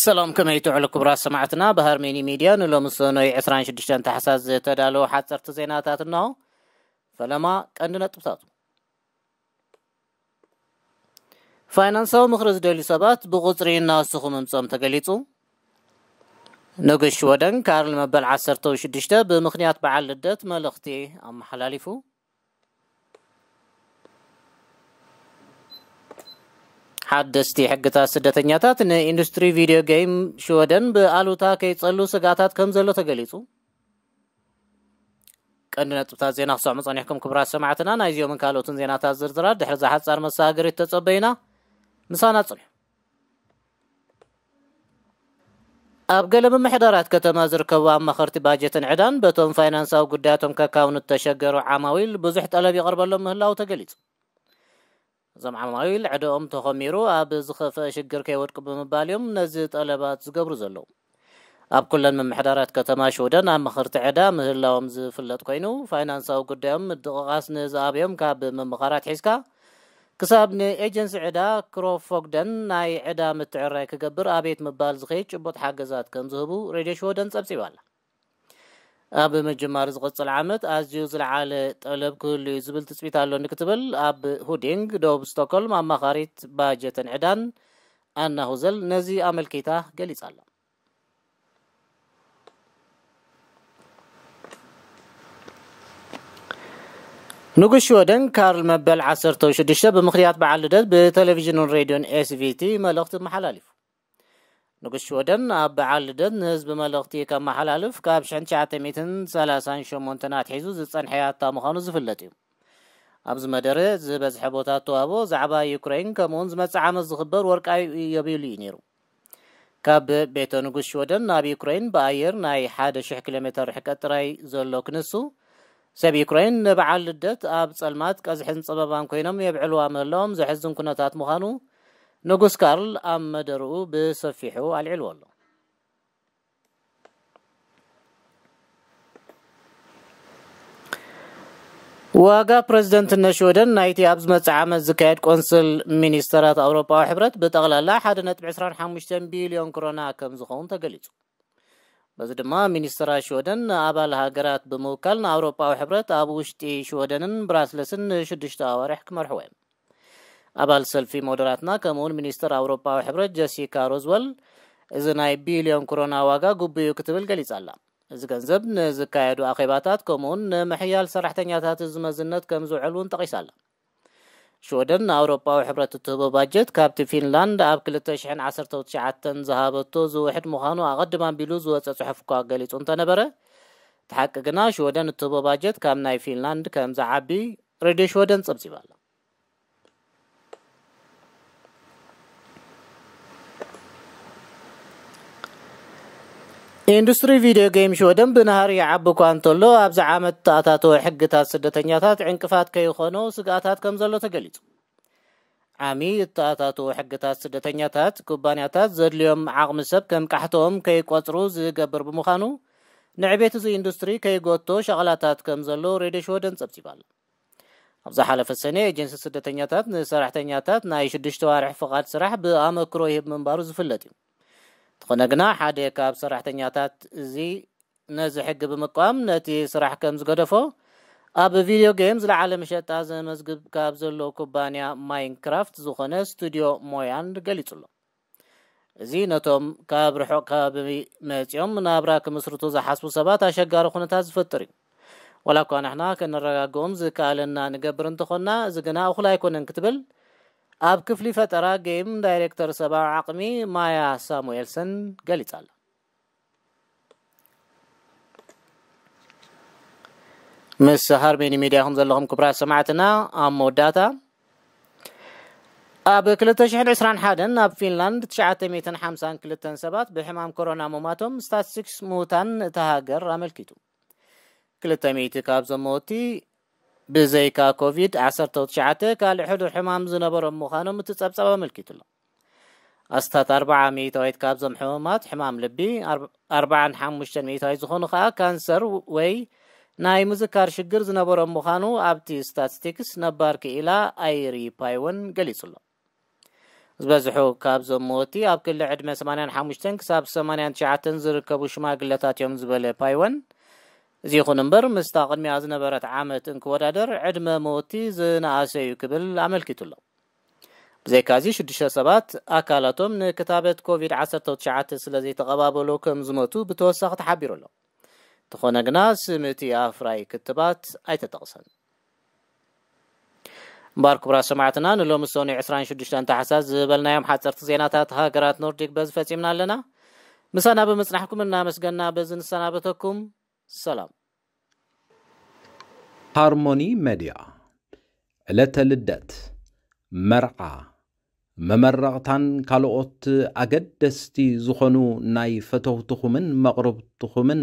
ሰላም፣ ከመይ ትውዕሉ ክቡራት ሰማዕትና? ብሃርሜኒ ሚድያ ንሎሚ ሰኖይ ዕስራን ሽዱሽተን ታሕሳስ ዝተዳለዉ ሓፀርቲ ዜናታት እነሆ። ፈለማ ቀንዲ ነጥብታቱ። ፋይናንሳዊ ምኽሪ ዝደልዩ ሰባት ብቑጽሪ እናወሰኹ ምምጾም ተገሊጹ። ንጉስ ሽወደን ካርል መበል ዓሰርተ ሽዱሽተ ብምኽንያት በዓል ልደት መልእኽቲ ኣመሓላሊፉ። ሓደስቲ ሕግታት ስደተኛታት ንኢንዱስትሪ ቪድዮ ጌም ሽወደን ብኣሉታ ከይጸሉ ስግኣታት ከም ዘሎ ተገሊጹ። ቀንዲ ነጥብታት ዜና ክሰዕሙ ጸኒሕኩም ክቡራት ሰማዕትና፣ ናይዚኦምን ካልኦትን ዜናታት ዝርዝራት ድሕሪ እዛ ሓጻር መሰጋገሪት ተጸበዩና። ምሳና ጽንሑ። ኣብ ገለ ምምሕዳራት ከተማ ዝርከቡ ኣማኸርቲ ባጀትን ዕዳን በቶም ፋይናንሳዊ ጉዳያቶም ከካውኑ እተሸገሩ ዓማዊል ብዙሕ ጠለብ ይቐርበሎም ምህላዉ ተገሊጹ። እዞም ዓማዊል ዕደኦም ተኾሚሩ ኣብ ዝኸፍአ ሽግር ከይወድቁ ብምባል እዮም ነዚ ጠለባት ዝገብሩ ዘለዉ። ኣብ ኩለን ምምሕዳራት ከተማ ሽወደን ኣማኸርቲ ዕዳ ምህላዎም ዝፍለጥ ኮይኑ፣ ፋይናንሳዊ ጉዳዮም ምድቕቓስ ንዝኣብዮም ካብ ምምኻር ኣትሒዝካ ክሳብ ንኤጀንሲ ዕዳ ክሮፎግደን ናይ ዕዳ ምትዕርራይ ክገብር ኣቤት ምባል ዝኸይድ ጭቡጥ ሓገዛት ከም ዝህቡ ሬድዮ ሽወደን ጸብጺባ ኣላ። ኣብ ምጅማር ዝቕጽል ዓመት ኣዝዩ ዝለዓለ ጠለብ ክህሉ እዩ ዝብል ትጽቢት ኣሎኒ ክትብል ኣብ ሁዲንግ ደቡብ ስቶክሆልም ኣማኻሪት ባጀትን ዕዳን ኣና ሁዘል ነዚ ኣመልኪታ ገሊጻ ኣላ። ንጉስ ሽወደን ካርል መበል ዓሰርተ ሽዱሽተ ብምኽንያት በዓል ልደት ብቴሌቪዥንን ሬድዮን ኤስቪቲ መልእኽቲ ኣመሓላሊፉ። ንጉስ ሽወደን ኣብ በዓል ልደት ንህዝቢ መልእኽቲ ከመሓላልፍ ካብ ሽሕን ትሽዓተ ሚእትን ሰላሳን ሸሞንተን ኣትሒዙ ዝጸንሐ ያታ ምዃኑ ዝፍለጥ እዩ። ኣብዚ መደረ ዝበዝሐ ቦታ እተዋህቦ ዛዕባ ዩክሬን ከምኡውን ዝመጽእ ዓመት ዝኽበር ወርቃዊ ኢዮቤልዩ እዩ ነይሩ። ካብ ቤተ ንጉስ ሽወደን ናብ ዩክሬን ብኣየር ናይ ሓደ ሽሕ ኪሎ ሜተር ርሕቀት ጥራይ ዘሎ ክንሱ፣ ሰብ ዩክሬን ንበዓል ልደት ኣብ ጸልማት ቀዝሕን ጸበባን ኮይኖም የብዕልዋ ምህላዎም ዘሕዝን ኩነታት ምዃኑ ንጉስ ካርል ኣብ መደርኡ ብሰፊሑ ኣልዒልዎ ኣሎ። ዋጋ ፕረዚደንትነት ሽወደን ናይቲ ኣብ ዝመጽእ ዓመት ዝካየድ ቆንስል ሚኒስተራት ኣውሮጳዊ ሕብረት ብጠቕላላ ሓደ ነጥቢ ዕስራን ሓሙሽተን ቢልዮን ክሮና ከም ዝኸውን ተገሊጹ። በዚ ድማ ሚኒስተራት ሽወደን ንኣባል ሃገራት ብምውካል ንኣውሮጳዊ ሕብረት ኣብ ውሽጢ ሽወደንን ብራስለስን ንሽዱሽተ ኣዋርሕ ክመርሕዎ እዮም። ኣባል ሰልፊ ሞደራትና ከምኡውን ሚኒስተር ኣውሮጳዊ ሕብረት ጀሲካ ሮዝወል፣ እዚ ናይ ቢልዮን ክሮና ዋጋ ግቡእ እዩ ክትብል ገሊጻ ኣላ። እዚ ገንዘብ ንዝካየዱ ኣኼባታት ከምኡውን ንምሕያል ሰራሕተኛታት እዚ መዝነት ከም ዝውዕል እውን ጠቒሳ ኣላ። ሽወደን ንኣውሮጳዊ ሕብረት እትህቦ ባጀት ካብቲ ፊንላንድ ኣብ ክልተ ሽሕን ዓሰርተ ትሽዓተን ዝሃበቶ ዝውሕድ ምዃኑ ኣቐድም ኣቢሉ ዝወጸ ጽሑፍ እኳ ገሊጹ እንተነበረ፣ እቲ ሓቂ ግና ሽወደን እትህቦ ባጀት ካብ ናይ ፊንላንድ ከም ዝዓቢ ሬድዮ ሽወደን ጸብጺባ ኣላ። ኢንዱስትሪ ቪድዮ ጌም ሽወደን ብናህሪ ይዓቢ እኳ እንተሎ፣ ኣብዚ ዓመት እተኣታተወ ሕግታት ስደተኛታት ዕንቅፋት ከይኾኖ ስግኣታት ከም ዘሎ ተገሊጹ። ዓሚ እተኣታተወ ሕግታት ስደተኛታት፣ ኩባንያታት ዘድልዮም ዓቕሚ ሰብ ከም ቃሕቶኦም ከይቆጽሩ ዝገብር ብምዃኑ፣ ንዕቤት እዚ ኢንዱስትሪ ከይጎቶ ሸቕላታት ከም ዘሎ ሬድዮ ሽወደን ጸብጺባ ኣላ። ኣብ ዝሓለፈ ሰኔ፣ ኤጀንሲ ስደተኛታት ንሰራሕተኛታት ናይ ሽዱሽተ ዋርሕ ፍቓድ ስራሕ ብኣመክሮ ይህብ ምንባሩ ዝፍለጥ እዩ። እንተኾነ ግና፣ ሓደ ካብ ሰራሕተኛታት እዚ ነዚ ሕጊ ብምቅዋም ነቲ ስራሕ ከም ዝገደፎ፣ ኣብ ቪድዮ ጌም ዝለዓለ መሸጣ ዘመዝግብ ካብ ዘሎ ኩባንያ ማይንክራፍት ዝኾነ ስቱድዮ ሞያንድ ገሊጹ ኣሎ። እዚ ነቶም ካብ ርሑቕ ከባቢ መጺኦም ናብራ ክምስርቱ ዝሓስቡ ሰባት ኣሸጋሪ ኩነታት ዝፈጥር እዩ። ዋላ እኳ ንሕና ከነረጋግኦም ዝከኣለና ንገብር እንተኾንና፣ እዚ ግና እኹል ኣይኮነን ክትብል ኣብ ክፍሊ ፈጠራ ጌም ዳይሬክተር ሰብኣዊ ዓቕሚ ማያ ሳሙኤልሰን ገሊጻ ኣላ። ምስ ሃርሜኒ ሚድያ ኢኹም ዘለኹም ክቡራት ሰማዕትና። ኣብ መወዳእታ፣ ኣብ ክልተ ሽሕን ዕስራን ሓደን ኣብ ፊንላንድ ትሽዓተ ሚእትን ሓምሳን ክልተን ሰባት ብሕማም ኮሮና ምሟቶም ስታትስቲክስ ምዉታን እታ ሃገር ኣመልኪቱ። ክልተ ሚእቲ ካብዞም መወቲ ብዘይካ ኮቪድ ዓሰርተ ትሽዓተ ካልእ ሕዱር ሕማም ዝነበሮም ምዃኖም እቲ ጸብጻብ ኣመልኪቱ ኣሎ። ኣስታት ኣርብዓ ሚእታዊት ካብዞም ሕሙማት ሕማም ልቢ፣ ኣርብ-፣ ኣርብዓን ሓሙሽተን ሚእታዊት ዝኾኑ ከኣ ካንሰር ወይ ናይ ምዝካር ሽግር ዝነበሮም ምዃኑ ኣብቲ ስታትስቲክስ ነባር ክኢላ ኣይሪ ፓይወን ገሊጹ ኣሎ። ዝበዝሑ ካብዞም መወቲ ኣብ ክሊ ዕድመ ሰማንያን ሓሙሽተን ክሳብ ሰማንያን ትሽዓተን ዝርከቡ ሽማግለታት እዮም ዝበለ ፓይወን፣ እዚ ይኹን እምበር ምስታ ቅድሚኣ ዝነበረት ዓመት እንክወዳደር ዕድመ መወቲ ዝነኣሰ እዩ ክብል ኣመልኪቱ ኣሎ። ብዘይካዚ ሽዱሽተ ሰባት ኣካላቶም ንክታበት ኮቪድ ዓሰርተ ትሽዓተ ስለ ዘይተቐባበሉ ከም ዝሞቱ ብተወሳኺ ተሓቢሩ ኣሎ። እንተኾነ ግና ስም እቲ ኣፍራይ ክትባት ኣይተጠቕሰን። እምበኣር ክቡራት ሰማዕትና ንሎሚ ሰኑይ ዕስራን ሽዱሽተን ታሕሳስ ዝበልናዮም ሓፀርቲ ዜናታት ሃገራት ኖርዲክ በዚ ፈፂምና ኣለና። ምሳና ብምፅናሕኩም እናመስገና በዚ ንሰናበተኩም። ሰላም። ሃርሞኒ ሜድያ ዕለተ ልደት፣ መርዓ፣ መመረቕታን ካልኦት ኣገደስቲ ዝኾኑ ናይ ፈተውትኹምን መቕርብትኹምን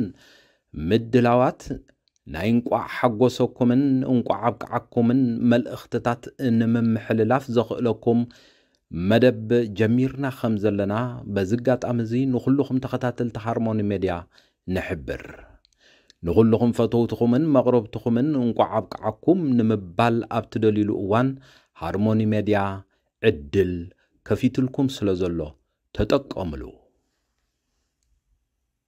ምድላዋት ናይ እንቋዕ ሓጎሰኩምን እንቋዕ ኣብቅዓኩምን መልእኽትታት ንምምሕልላፍ ዘኽእለኩም መደብ ጀሚርና ከም ዘለና በዚ ኣጋጣሚ እዚ ንኹልኹም ተኸታተልቲ ሃርሞኒ ሜድያ ንሕብር። ንኹልኹም ፈተውትኹምን መቕረብትኹምን እንቋዕ ኣብቅዓኩም ንምባል ኣብ ትደልዩሉ እዋን ሃርሞኒ ሜድያ ዕድል ከፊትልኩም ስለ ዘሎ ተጠቀምሉ።